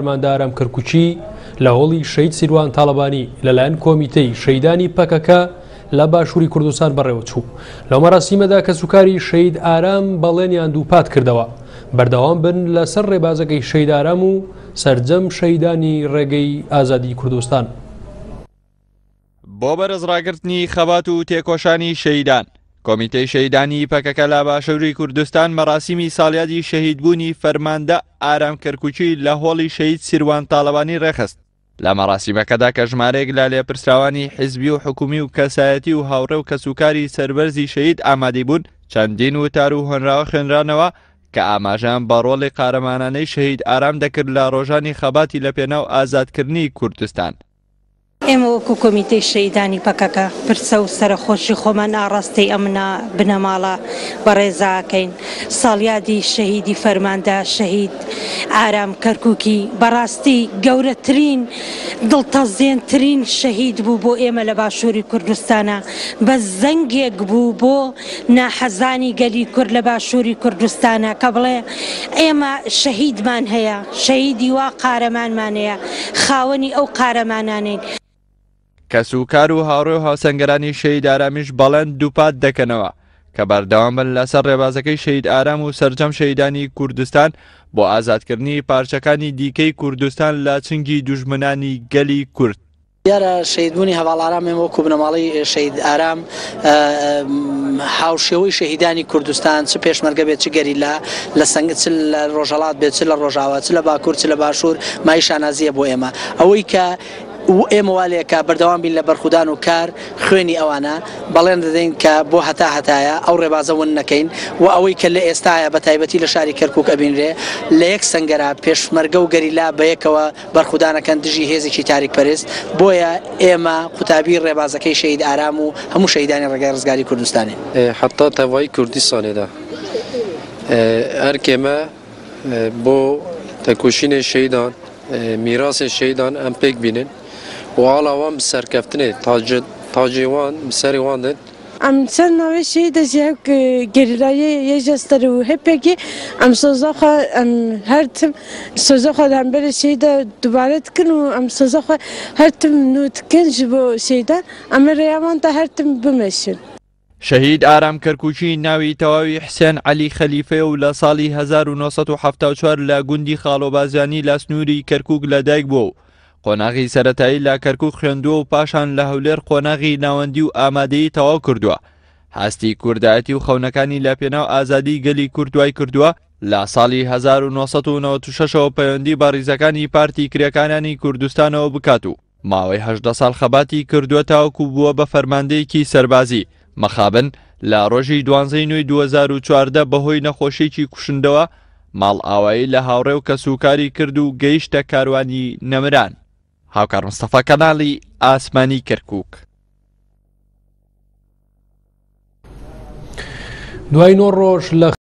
فەرماندە ئارام کەرکوکی لە هۆڵی شەهید سیروان تاڵەبانی لەلایەن کۆمیتەی شەهیدانی پەکەکە لە باشووری کوردستان بەڕێوەچوو. لەو مەراسیمەدا کەسوکاری شەهید ئارام بەڵێنیان دووپات کردەوە بەردەوام بن لەسەر ڕێبازەکەی شەهید ئارام و سەرجەم شەهیدانی ڕێگەی ئازادی کوردستان. بۆ بەرزڕاگرتنی خەبات و تێکۆشانی شەهیدان، کۆمیتەی شەهیدانی پەکەکە لە باشووری کوردستان مەراسیمی ساڵیادی شەهیدبوونی فەرماندە ئارام کەرکوکی لە هۆڵی شەهید سیروان تاڵەبانی ڕێکخست. لە مەراسیمەکەدا کە ژمارەیەک لە لێپرسراوانی حیزبی و حکومی و کەسایەتی و هاوڕێ و کەسوکاری سەربەرزی شەهید ئامادەی بوون، چەندین وتار و هۆنراوە خوێنرانەوە کە ئاماژەیان بە ڕۆڵی قارەمانانەی شەهید ئارام دەکرد لە ڕۆژانی خەباتی لەپێناو ئازادکردنی کوردستان. ئێمە وەکو کۆمیتەی شەهیدانی پەکەکە پرسە و سەرەخۆشی خۆمان ئاڕاستەی ئەم بنەماڵە بەڕێزە ئەکەین. ساڵیادی شەهیدی فەرماندە شەهید ئارام کەرکوکی بەڕاستی گەورەترین دڵتەزێنترین شەهید بوو بۆ ئێمە لە باشووری کوردستانا. بەس زەنگێک بوو بۆ ناحەزانی گەلی کورد لە باشووری کوردستانا کە بڵێ ئێمە شەهیدمان هەیە، شەهیدی وا قارەمانمان هەیە، خاوەنی ئەو قارەمانانەین. کەسوکار و هاوڕێ و هاوسەنگەرانی شەهید ئارامیش بەڵێن دووپات دەکەنەوە کە بەردەوام بن لەسەر ڕێبازەکەی شەهید ئارام و سەرجەم شەهیدانی کوردستان بۆ ئازادکردنی پارچەکانی دیکەی کوردستان لە چنگی دوژمنانی گەلی کورد. دیارە شەهیدبوونی هەڤاڵ ئارام ئێمە وەکو بنەماڵەی شەهید ئارام هاوشێوەی شەهیدانی کوردستان چ پێشمەرگە بێت چ گەریلا لە سنگ چ لە ڕۆژهەڵات بێت چ لە ڕۆژاوا چ لە باکوور چ لە باشوور مای شانازیە بۆ ئێمە ئەوەی کە ئێمە وا لێکا بەردەوام بین لە بەرخودان و کار خوێنی ئەوانە بەڵێن دەدەین کە بۆ هەتا هەتایە ئەو ڕێبازە ون نەکەین و ئەوەی کە لە ئێستایا بە تایبەتی لە شاری کەرکوک ئەبینرێ لە یەک سەنگەرا پێشمەرگە و گەریلا بەیەکەوە بەرخودانەکەن دژی هێزێکی تاریک پەرست، بۆیە ئێمە قوتابی ڕێبازەکەی شەهید ئارام و هەموو شەهیدانی ڕێگای ڕزگاری کوردستانین. حەتا تەڤایی کوردستانێ دا ئەرکێ مە بۆ تێکۆشینێ شەهیدان، میراسێ شەهیدان ئەم پێک بینن و ئاڵا وان bi serkeftinê tacê wan bi serê wan din. Em ser navê şehîdê jî hevk gerîlayê YJSTR û HPG'ê em soza xwe em her tim soza xwe li hemberî şehîda dubare dikin û em soza xwe her tim nû dikin ji bo şehîdan em ê rêya wan de her tim bimeşin. شەهید ئارام کەرکوکی ناوی تەواوی حسێن عەلی خەلیفەیە و لە ساڵی 1974 لە گوندی خاڵۆبازیانی لە سنووری کەرکوک لەدایک بووە و قۆناغی سەرەتایی لە کەرکوک خوێندووە و پاشان لە هەولێر قۆناغی ناوەندی و ئامادەیی تەواو کردووە. هەستی کوردایەتی و خەونەکانی لە پێناو ئازادی گەلی کورد وای کردووە لە ساڵی 1996 ەوە پەیوەندی بە ڕیزەکانی پارتی کرێکارانی کوردستانەوە بکات و ماوەی 18 ساڵ خەباتی کردووە تاوەکو بووە بە فەرماندەیەکی سەربازی، مەخابن لە ڕۆژی دوانزەی نۆی 2014 بەهۆی نەخۆشییەکی کوشندەوە ماڵئاوایی لە هاوڕێ و کەسوکاری کرد و گەیشتە کاروانی نەمران. هاوکار مستەفا کەناڵی ئاسمانی کەرکوک. دوای نۆ ڕۆژ لە.